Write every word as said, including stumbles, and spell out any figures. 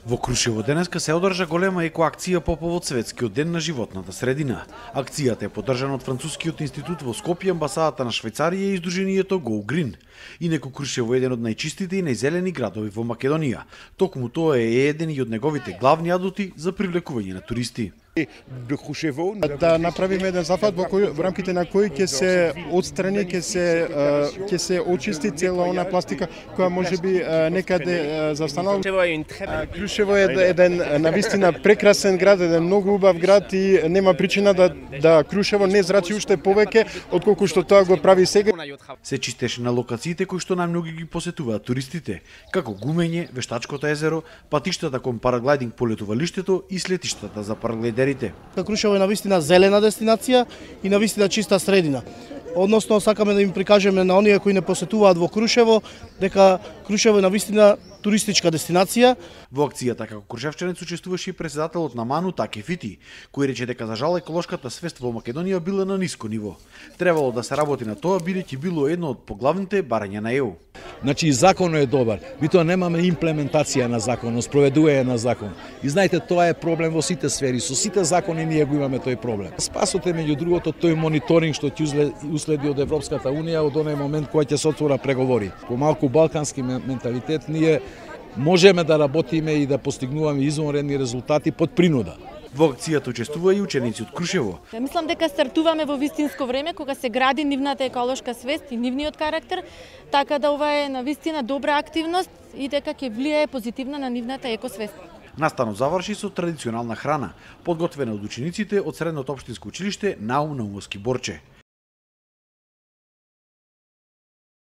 Во Крушево денеска се одржа голема екоакција по повод Светскиот ден на животната средина. Акцијата е поддржана од Францускиот институт во Скопје, амбасадата на Швајцарија и издруженијето Go Green. Инаку Крушево е еден од најчистите и најзелени градови во Македонија. Токму тоа е еден и од неговите главни адути за привлекување на туристи. Да направиме еден зафат во кој во рамките на кој ќе се отстрани, ќе се ќе се очисти цела она пластика која можеби некаде застанала. Крушево е еден навистина прекрасен град, еден многу убав град и нема причина да да Крушево не зрачи уште повеќе отколку што тоа го прави сега. Се чистеше на локациите кои што најмногу ги посетуваат туристите, како Гумење, Вештачкото езеро, патиштата кон параглайдинг полетувалиштето и слетиштата за параглайдерите. Крушево е навистина зелена дестинација и навистина чиста средина. Односно, сакаме да им прикажеме на оние кои не посетуваат во Крушево дека Крушево е навистина туристичка дестинација. Во акцијата како крушевчанец учествуваше и председателот на МАНУ Таке Фити, кој рече дека за жал еколошката свест во Македонија била на ниско ниво. Требало да се работи на тоа бидејќи било едно од поглавните барања на Е У. Значи и законот е добар, ми тоа немаме имплементација на законот, спроведување на закон. И знаете, тоа е проблем во сите сфери, со сите закони ние го имаме тој проблем. Спасот е меѓу другото тој мониторинг што ќе уследи од Европската унија од оној момент кога ќе се отвора преговори. По малку балкански менталитет ние можеме да работиме и да постигнуваме извонредни резултати под принуда. Во акцијата учествува и ученици од Крушево. Мислам дека стартуваме во вистинско време кога се гради нивната еколошка свест и нивниот карактер, така да ова е навистина добра активност и дека ќе влијае позитивно на нивната екосвест. Настанот заврши со традиционална храна, подготвена од учениците од Средното општинско училиште Наум Наумовски Борче.